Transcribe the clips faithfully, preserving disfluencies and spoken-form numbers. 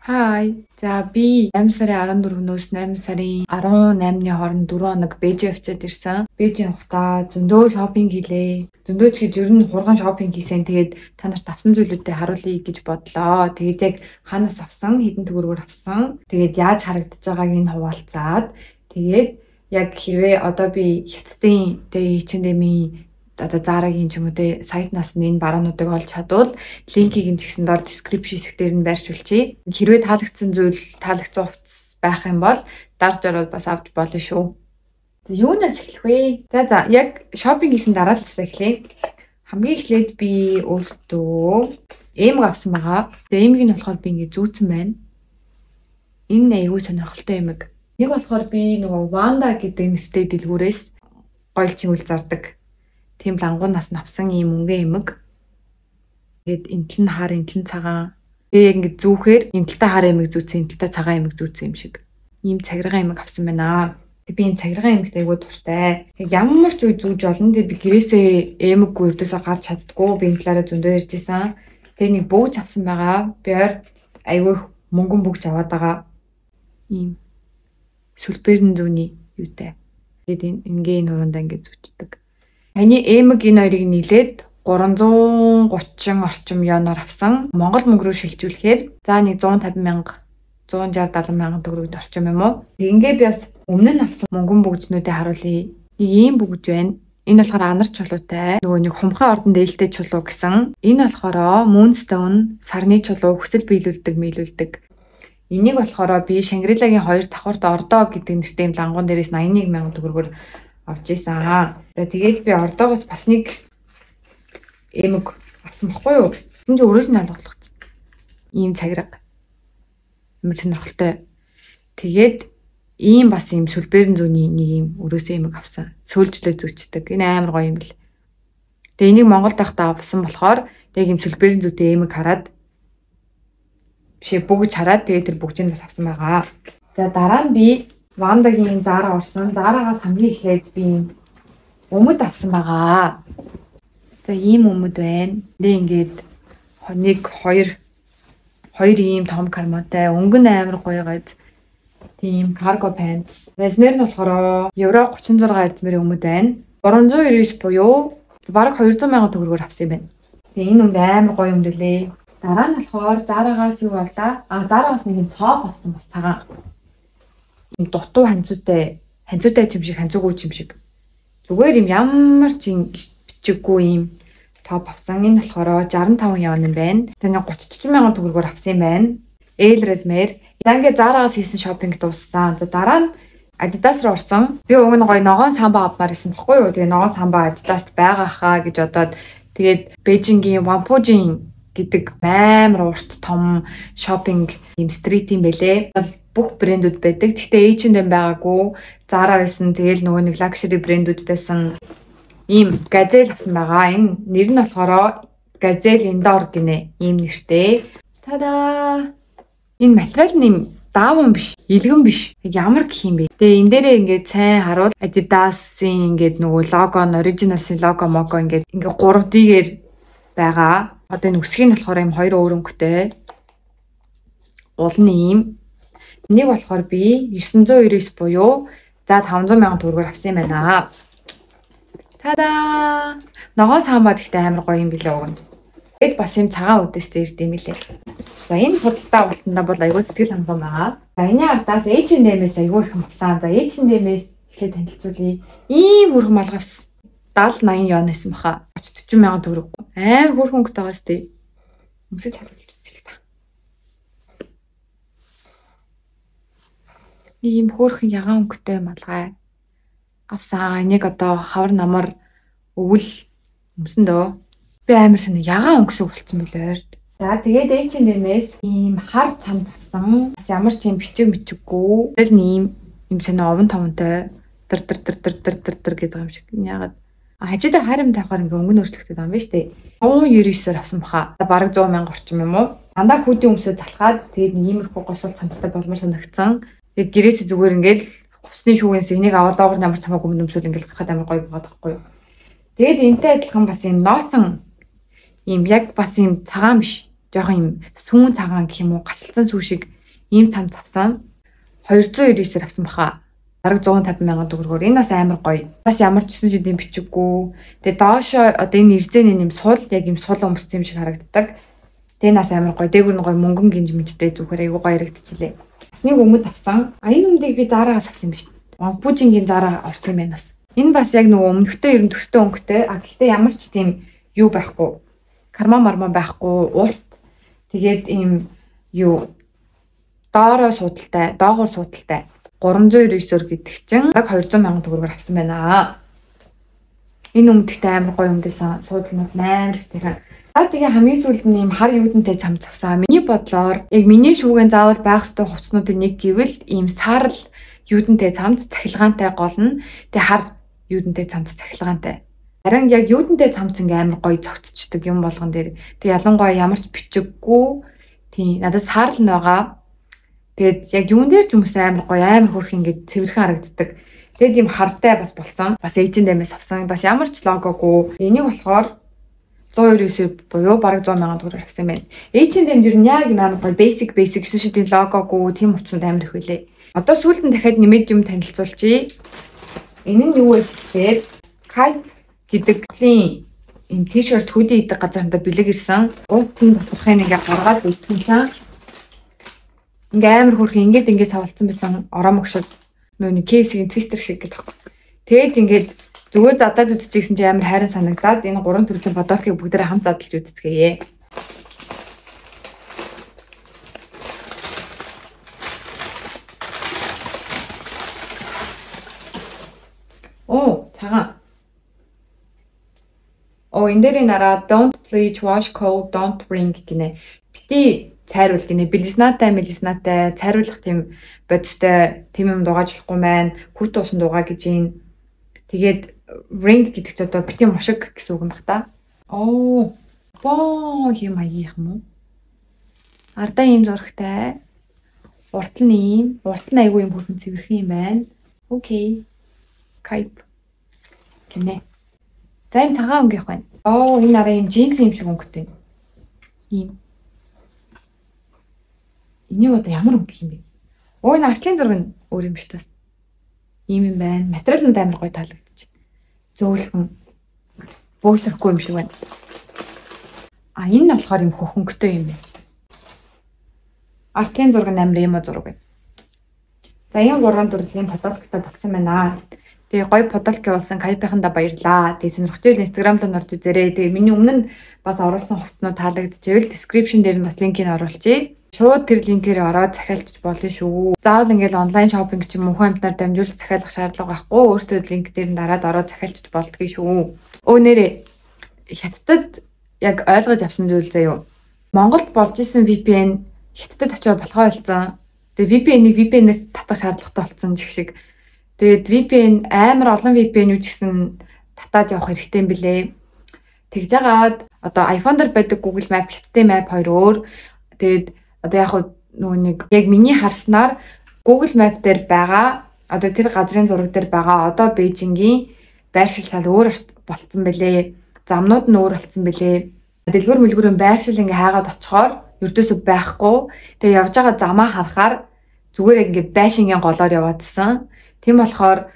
Хай. За би eight сарын арван дөрөвнөөс eight сарын арван наймны хооронд дөрвөн хоног Бээжин явчаад ирсэн. Бээжин явахдаа зөндөө шопинг хийлээ. Зөндөө ч гэж ер нь хурган шопинг хийсэн. Тэгээд та нарт авсан зүйлүүдээ харуулъя гэж бодлоо. Тэгээд яг ханаас авсан, хэдэн төгрөгөөр авсан. Тэгээд яаж харагдаж байгааг нь хуваалцаад тэгээд яг хэрвээ одоо би хятадын тэ H&M-ийн одоо Zara-гийн ч юм уу те сайтнаас нь энэ бараануудыг олж чадвал линкийг нь ч гэсэн доор description хэсгээр нь байршуулчих. Хэрвээ таалагдсан зүйл, таалагдсан хувцас байх юм бол дарж ороод бас авч болно шүү. Юунаас эхлэх вэ? За за яг шопинг хийсэн дараа л эхлэе. Хамгийн эхлээд би өөртөө эм авсан байгаа. Тэгээ эмийг нь болохоор би ингэ зүүцэн байна. Энэ аюу сонирхолтой эмэг. Нэг болохоор би нөгөө Wanda гэдэг нэртэй дэлгүүрээс гоёл чимэл зардаг. Тийм лангуун нас навсан ийм өнгөн эмэг. Тэгээд энтэл нь хар, энтэл нь цагаан. Тэгээ яг ингэ зүүхээр энтэлтэй хар эмэг зүүцэн, энтэлтэй цагаан эмэг зүүцэн юм шиг. Ийм цагиргаан эмэг авсан байна. Тэг би энэ цагиргаан эмэгтэй айгуу дуртай. Тэг ямар ч үе зүүж болно. Тэг би гэрээсээ эмэггүй өрдөөсөө гарч чаддгүй. Би энэ талаараа зөндөө ярьж исэн. Тэг нэг бөөж авсан байгаа. Би ойр айгуу мөнгөн бөгж аваад байгаа. Ийм сүлбэрэн зүүний юутай. Тэгээд ингээ энэ урандаа ингээ зүчдэг. Таны эмэг энэ хоёрыг нийлээд гурван зуун гучин орчим ёоноор авсан. Монгол мөнгө рүү шилжүүлэхээр за нэг one fifty мянга, one sixty seventy мянган төгрөг орчим юм уу? Ингээ би бас өмнө нь авсан мөнгөн бүгжнүүдээ харуулъя. Нэг ийм бүгж байна. Энэ болохоор анар чулуутай. Нөгөө нэг хумхаа ордон дээлтэй чулуу гэсэн. Энэ болохоор Moonstone сарны чулуу хүсэл биелүүлдэг, мийлүүлдэг. Энийг болохоор би Шангрилагийн хоёр давхарт ордоо гэдэг нэртэй юм лангуун дээрээс ninety-one мянган төгрөгөөр авч ийсэн аа. За тэгээд би ордоогоос бас нэг эмэг авсан баггүй юу? Тэгсэн чинь өрөөс нь алгуулчихсан. Ийм цагираг. Ямар сонирхолтой. Тэгээд ийм бас ийм сүлбэрэн зүүний нэг ийм өрөөсөө эмэг авсан. Сөөлжлөө зүчдэг. Энэ амар гоё юм бэл. Тэгээ энийг Монголд байхдаа авсан болохоор тэг ийм сүлбэрэн зүйтэй эмэг хараад бишээ бүгж хараад тэгээд тэр бүгжийг бас авсан байгаа. За дараа нь би Wandaгийн Zara орсон. Zara-гаас хамгийн эхлээд би өмд авсан байгаа. За ийм өмд байна. Тэ ингээд нэг хоёр хоёр ийм том карматай, өнгөн амар гоё гад тийм cargo pants. Размер нь болохоор евро thirty-six эрдмэрийн өмд байна. three ninety-nine буюу бараг two hundred мянган төгрөгөөр авсан юм байна. Тэгээ энэ өмд амар гоё өмд лээ. Дараа нь болохоор Zara-гаас юу авлаа? А Zara-гаас нэг юм топ авсан бас цагаан. Дутуу ханцуутай, ханцуутай юм шиг, ханцуугүй юм шиг. Зүгээр юм ямар ч бичиггүй юм топ авсан. Энэ болохоор sixty-five явна юм байна. Тэний thirty forty мянган төгрөгөөр авсан юм байна. L размер. За ингээд Zara-гаас хийсэн шопинг дууссан. За дараа нь Adidas руу орсон. Би уг нь гоё ногоон самбаа авмаар исэн баггүй юу? Тэгээ ногоон самбаа Adidas-т байгаа хаа гэж бодоод тэгээд Бээжингийн Whampoa гэдэг амар урт том шопинг юм стрит юм бэлээ. Бүх брэндүүд байдаг. Гэхдээ H&M байгаагүй. Zara байсан. Тэгэл нөгөө нэг luxury брэндүүд байсан. Ийм газель авсан байгаа. Энэ нэр нь болохоор Gazelle Indoor гинэ. Ийм нэртэй. Тадаа. Энэ материал нь юм даавн биш, илгэн биш. Ямар гэх юм бэ? Тэгээ энэ дээрээ ингээд сайн харуул Adidas-ийн ингээд нөгөө лого, Originals-ийн лого мого ингээд ингээд three D-гээр байгаа. Одоо энэ үсгийг нь болохоор юм хоёр өөр өнгөтэй. Уул нь ийм. Нэг болохоор би nine ninety-nine буюу за five hundred мянган төгрөгөөр авсан юм байна. Тадаа! Ногоон самбаа гэхдээ амар гоё юм билээ уг нь. Тэгэд бас юм цагаан үдэстэй ирд юм билээ. За энэ худалдаа авалтанда бол аягүй сэтгэл хангалуун байгаа. За энэ ардаас H&M-ээс аягүй их авсан. За H&M-ээс эхлээд танилцуулъя. Ийм хөрхөн малгай авсан. seventy eighty ёон байсан баха. forty мянган төгрөг. Амар хөрхөн өнгөтэй байгаа сте. Өмсөж харуулж үзье л та. Нэг юм хөөрхөн ягаан өнгөтэй малгай авсан. Энийг одоо хавар намар өвөл өмсөн дөө. Би амар шинэ ягаан өнгөсөг болцсон билээ ойрд. За тэгээд H&M-ээс ийм хар цамц авсан. Бас ямар ч юм бичиг мичиггүй. Тэгэл ийм юм шинэ овон томонтой дэр дэр дэр дэр дэр дэр дэр гэдэг юм шиг. Ягаад хажуудаа харим тавихаар ингээ өнгө өөрчлөгдөж байгаа юм байна шүү дээ. one ninety-nine-оор авсан баха. Бараг one hundred мянга орчим юм уу? Дандаа хүүдийн өмсөд залхаад тэгээд иймэрхүү госол цамцтай болмор санагдсан. Тэгээд гэрээсээ зүгээр ингээл хувцсны шүүгээс энийг аваад доогор ямар цамаагүй өмсөөл ингээл гарахад амар гоё байгаа байхгүй юу? Тэгээд энтэй адилхан бас юм носон юм яг бас юм цагаан биш. жоохон юм сүүн цагаан гэх юм уу гачлалцсан сүү шиг ийм цамц авсан. хоёр зуун девять дээрээ авсан баха. Бараг зуун тавин мянган төгрөгөөр. Энэ бас амар гоё. Бас ямар ч зүйл юм бичиггүй. Тэгээ доошоо одоо энэ ирзэний юм сул яг юм сул өмстэй юм шиг харагддаг. Тэгээ нас амар гоё. Дээгүр нь гоё мөнгөн гинж мэдтэй зүгээр айгуу гоё харагдчихлээ. Бас нэг өмд авсан. А энэ өмдийг би Зараагаас авсан юм биш. Вампужингийн Зараа орсон юм байна бас. Энэ бас яг нөгөө өмнөхтэй ер нь төстэй өнгөтэй. А гэхдээ ямар ч тийм юу байхгүй. Карма марма байхгүй. Уурт. Тэгээд ийм юу доороо суудалтай, доогуур суудалтай. гурван зуун девять дэх гэдэг чинь баг хоёр зуун мянган төгрөгөөр авсан байна. Энэ өмдөгтэй амар гоё өмдөөсөн. Суудлынууд амар ихтэй. Аа тэгээ хамгийн сүүлд нь ийм хар юудэнтэй цамц авсан. Миний бодлоор яг миний шүүгэн заавал байх ёстой хувцснуудын нэг гэвэл ийм саарл юудэнтэй цамц цахилгаантай гол нь тэгээ хар юудэнтэй цамц цахилгаантай. Харин яг юудэнтэй цамц ингээ амар гоё цогцчдаг юм болгон дээр. Тэг ялангуяа ямар ч бичиггүй тийм надад саарл нь байгаа. Тэгээд яг юун дээр ч хүмүүс амар гоё амар хөрх ингээд цэвэрхэн харагддаг. Тэгээд ийм хартай бас болсон. Бас эйч энд эм-ээс авсан. Бас ямар ч логогүй. Энийг болохоор зуун девять буюу бараг зуун мянган төгрөгөөр авсан байна. эйч энд эм ер нь яг амар гоё basic basic гэсэн шиг тийм логогүй, тийм утсууд амар их байлээ. Одоо сүүлд нь дахиад нэмээд юм танилцуулчихъя. Энэ нь юу вэ гэхээр Kite гэдэг ийм t-shirt hoodie гэдэг газар надад бэлэг ирсэн. Гуутын доторхын ингээ гаргаад үйсэн чинь ингээ амар хөрхөн ингээд ингээд савлцсан байсан ороомог шиг нөө нэг кей эф си-ийн твистер шиг гэдэг. Тэгээд ингээд зүгээр задаад үдчихсэн чи амар хайран санагдаад энэ гурван төрлийн бодолкийг бүгдээрээ хамт задлж үдцгээе. Оо, цагаан. Оо, энэ дээрийн нараа don't bleach, wash cold, don't bring гинэ. Бити цайруулах гинэ. Белизнатай, мелизнатай цайруулах тийм бодистой тийм юм дугааж болохгүй маань. Хүүт уусан дугаа гэж юм. Тэгээд ring гэдэг ч одоо бити мушиг гэсэн үг юм бах та. Оо, боо юм аяах юм уу? Ардаа ийм зурагтай. Уртал нь ийм, уртал нь айгүй юм хөрхөн цэвэрхэн юм байна. Окей. Kite. Гинэ. За энэ цагаан өнгөх байна. Оо, энэ араа ийм джинс юм шиг өнгөтэй. Ийм. Энийг одоо ямар өнгө юм бэ? Оо, энэ артлын зураг нь өөр юм биш тас. Ийм юм байна. Материал нь амар гоё таалагдчих. Зөөлхөн. Бөөсөхгүй юм шиг байна. А энэ нь болохоор юм хөхөнгөтэй юм байна. Артлын зураг нь амар юм зураг байна. За энэ гурван төрлийн фотографтай болсон байна. Тэгээ гоё подолки болсон Kite-ийнхандаа баярлаа. Тэгээ сонирхолтой Instagram-д нь орж үзээрэй. Тэгээ миний өмнө нь бас оруулсан хувцснууд таалагдчихвэл description дээр нь бас линкийг оруулчихъя. Шууд тэр линкээр ороод захиалчих болно шүү. Заавал ингээл онлайн шопинг ч юм уу хүн амтнаар дамжуулах захиалах шаардлага байхгүй. Өөртөө линк дээр нь дараад ороод захиалчих болдгоо шүү. Өө нэрээ хятадд яг ойлгож авсан зүйл заяа. Монголд болж исэн ви пи эн хятадд очиж болохоо болсон. Тэгээ ви пи эн-ийг ви пи эн-ээр татах шаардлагатай болсон ч их шиг. Тэгээд ви пи эн амар олон ви пи эн-үүд гэсэн татаад явах хэрэгтэй юм билээ. Тэгж жагаад одоо iPhone дээр байдаг Google Map, хятадын map хоёр өөр. Тэгээд одоо яг нөгөө нэг яг миний харснаар Google Map дээр байгаа одоо тэр газрын зураг дээр байгаа одоо Бээжингийн байршил шал өөр болцсон бэлээ. Замнууд нь өөр болцсон бэлээ. Дэлгүүр мэлгүүрийн байршил ингээ хаагаад очихоор ердөөсөө байхгүй. Тэгээ явж байгаа замаа харахаар зүгээр ингээ байшингийн голоор яваадсан. Тийм болохоор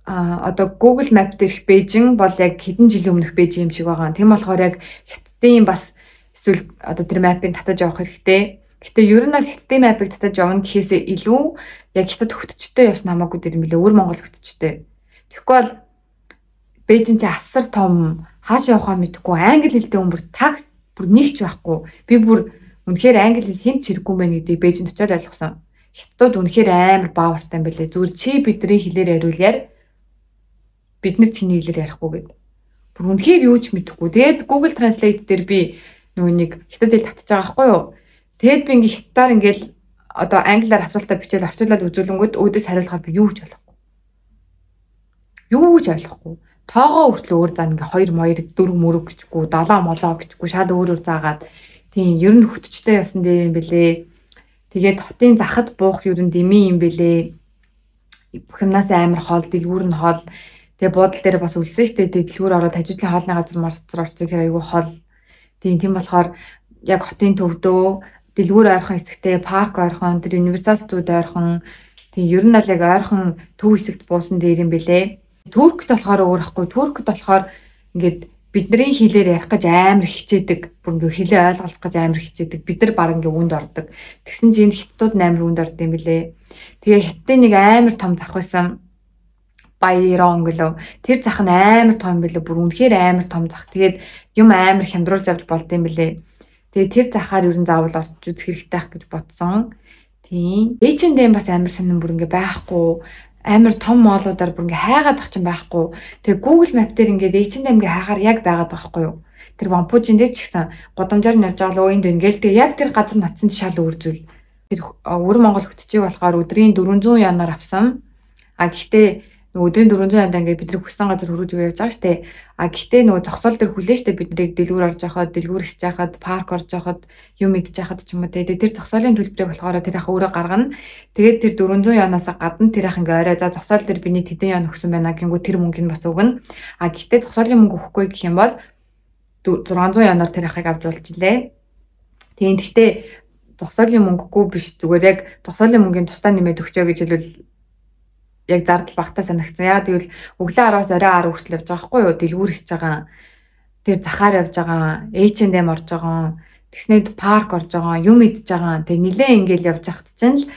одоо Google Map дээрх Бээжин бол яг хэдэн жилийн өмнөх Бээжин юм шиг байгаа. Тийм болохоор яг хятадын бас эсвэл одоо тэр мапыг татаж явах хэрэгтэй. Гэтэ ер нь бол хятадын мапыг татаж явна гэхээсээ илүү яг хятад хөтчтэй явсан хамаагүй дээр юм билээ. Өөр Монгол хөтчтэй. Тэгэхгүй бол Бээжин чи асар том хааш явахаа мэдэхгүй англи хэлтэй хүн бүр таг бүр нэгч байхгүй. Би бүр үнэхээр англи хэл хэн ч хэрэггүй байх гэдгийг Бээжинд очиод ойлгосон. Хятадууд үнэхээр амар баавартай юм билээ. Зүгээр чи бидний хэлээр яриулаар бид нар чиний хэлээр ярихгүй гэд. Бүр үнэхээр юу ч мэдэхгүй. Тэгээд Google Translate дээр би нөгөө нэг хятад хэл татчих байгаа байхгүй юу? Тэгэд би ингээ хятадаар ингээл одоо англиар асуултаа бичээл орчуулад үзүүлэнгүүд өөдөөс хариулахаар би юу ч ойлгохгүй. Юу ч ойлгохгүй. Тоогоо хүртэл өөр заа ингээ хоёр моёр дөрөв мөрөв гэчгүй, долоо молоо гэчгүй шал өөр өөр заагаад тийм ер нь хөтчтэй явсан дээр юм бэлээ. Тэгээд хотын захад буух ер нь дэмий юм бэлээ. Бүх юмнаас амар хоол, дэлгүүр нь хоол. Тэгээ буудал дээр бас үлсэн шүү дээ. Дэлгүүр ороод хажуудлын хоолны газар марцар орцсон хэрэг айгүй хоол. Тийм тийм болохоор яг хотын төвдөө дэлгүүр ойрхон хэсэгтээ парк ойрхон тэр универсал студ ойрхон тийм ер нь л яг ойрхон төв хэсэгт буусан дээр юм бэлээ. Туркт болохоор өөр ахгүй. Туркт болохоор ингээд бидний хэлээр ярих гэж амар хичээдэг. Бүр ингээ хэлээ ойлгох гэж амар хичээдэг. Бид нар баг ингээ үнд ордог. Тэгсэн чинь хятадууд амар үнд орд юм бэлээ. Тэгээ хятадын нэг амар том зах байсан. Баярон гэлөө. Тэр зах нь амар том бэлээ. Бүр үнэхээр амар том зах. Тэгээд юм амар хямдруулж авч болд юм бэлээ. Тэгээ тэр захаар ер нь заавал орж үзэх хэрэгтэй байх гэж бодсон. Тийм. эйч энд эм бас амар сонирн бүр ингээ байхгүй. Амар том моолуудаар бүр ингээ хайгаад ах чинь байхгүй. Тэгээ Google Map дээр ингээд эйч энд эм-гээ хайхаар яг байгаад байгаа байхгүй юу. Тэр Вампужин дээр ч гэсэн годамжаар нь явж байгаа л өөнд ингээл тэгээ яг тэр газар ноцсон шал үрзүүл. Тэр өвөр Монгол хөтчийг болохоор өдрийн дөрвөн зуун янаар авсан. А гэхдээ нөгөө өдрийн дөрвөн зуун янд ингээд бид нар хүссэн газар хөргөж өгөө явж байгаа штэ. А гэхдээ нөгөө зогсоол дээр хүлээ штэ бид нарыг дэлгүүр орж яхад, дэлгүүр ихж яхад, парк орж яхад, юм идэж яхад ч юм уу те. Тэр зогсоолын төлбөрийг болохоор тэр ах өөрөө гаргана. Тэгээд тэр дөрвөн зуун янаас гадна тэр ах ингээ орой за зогсоол дээр биний тэдэн ян өгсөн байна гингүү тэр мөнгөнд бас өгнө. А гэхдээ зогсоолын мөнгө өгөхгүй гэх юм бол зургаан зуун янаар тэр ахыг авч уулзлаа. Тийм гэхдээ зогсоолын мөнгөгүй биш зүгээр яг зогсоолын мөнгөний тусдаа нэмээд өгчөө гэж хэлвэл яг зардал багтаа санагдсан. Яагаад гэвэл өглөө араас орой ар хүртэл явж байгаа байхгүй юу? Дэлгүүр хийж байгаа. Тэр захаар явж байгаа. эйч энд эм орж байгаа. Тэгснээр парк орж байгаа. Юм идж байгаа. Тэг нилээ ингээл явж хахт чинь л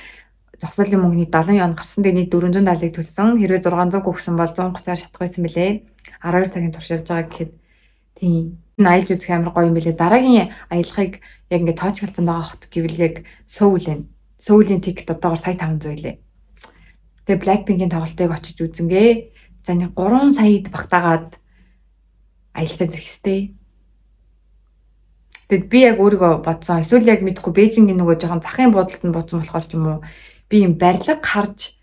зогсоолын мөнгөний дагалан яон гарсан. Тэг нийт дөрвөн зуун даалыг төлсөн. Хэрвээ зургаан зуун өгсөн бол зуун гуцаар шатах байсан мөлий. арван хоёр цагийн турш явж байгаа гэхэд тийм. Энэ аялж үзэх амар гоё юм билээ. Дараагийн аялахыг яг ингээд тоочгалцсан байгаа хот гэвэл яг Сөүл вэ. Сөүлийн тикет одоогоор сая таван зуун лээ. Тэгээ Blackpink-ийн тоглолтыг очиж үзэнгээ. За нэг гурван саяд багтаагаад аялалтад ирэх хэвтэй. Тэгэд би яг өөрийгөө бодсон. Эсвэл яг мэдгүй Бээжингийн нөгөө жоохон захын буудалд нь бодсон болохоор ч юм уу би юм барилга харж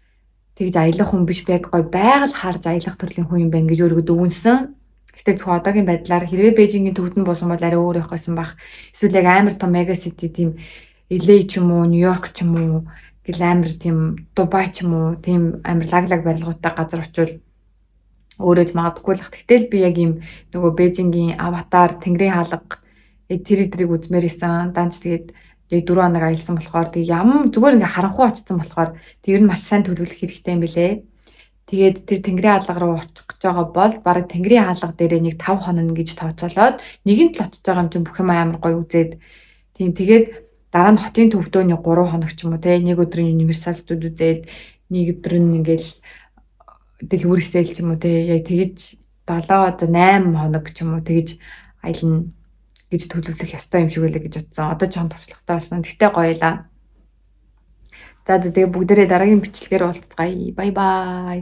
тэгж аялах хүн биш би яг гоё байгаль харж аялах төрлийн хүн юм байна гэж өөрийгөө дүгнсэн. Гэтэ зөвхөн одоогийн байдлаар хэрвээ Бээжингийн төвд нь буусан бол арай өөр байх байсан бах. Эсвэл яг амар том мега сити тийм эл эй ч юм уу, Нью-Йорк ч юм уу гэл амар тийм Дубай ч юм уу тийм амар лаглаг барилгуудтай газар очивол өөрөө ч магадгүй л ах. Тэгтэл би яг юм нөгөө Бээжингийн аватар, Тэнгэрийн хаалга тэр эдрийг үзмээр исэн. Данч тэгээд яг дөрөв хоног аялсан болохоор тэг ям зүгээр ингээ харанхуй очсон болохоор тэг ер нь маш сайн төлөвлөх хэрэгтэй юм билэ. Тэгээд тэр Тэнгэрийн хаалга руу очих гэж байгаа бол бараг Тэнгэрийн хаалга дээрээ нэг таван хоног гэж тооцоолоод нэгэнт л очиж байгаа юм чинь бүх юм амар гоё үзээд тийм тэгээд дараа нь хотын төвдөө нэг гурван хоног ч юм уу те нэг өдрийн универсал студ үзээд нэг өдөр нь ингээл дэлгүүрсэл ч юм уу те яг тэгэж долоо одоо найман хоног ч юм уу тэгэж аялна гэж төлөвлөх ёстой юм шиг байлаа гэж бодсон. Одоо жоохон туршлагатай болсон. Тэгтээ гоёлаа. За тэгээ бүгдээрээ дараагийн бичлэгээр уулзцгаая. Бай бай.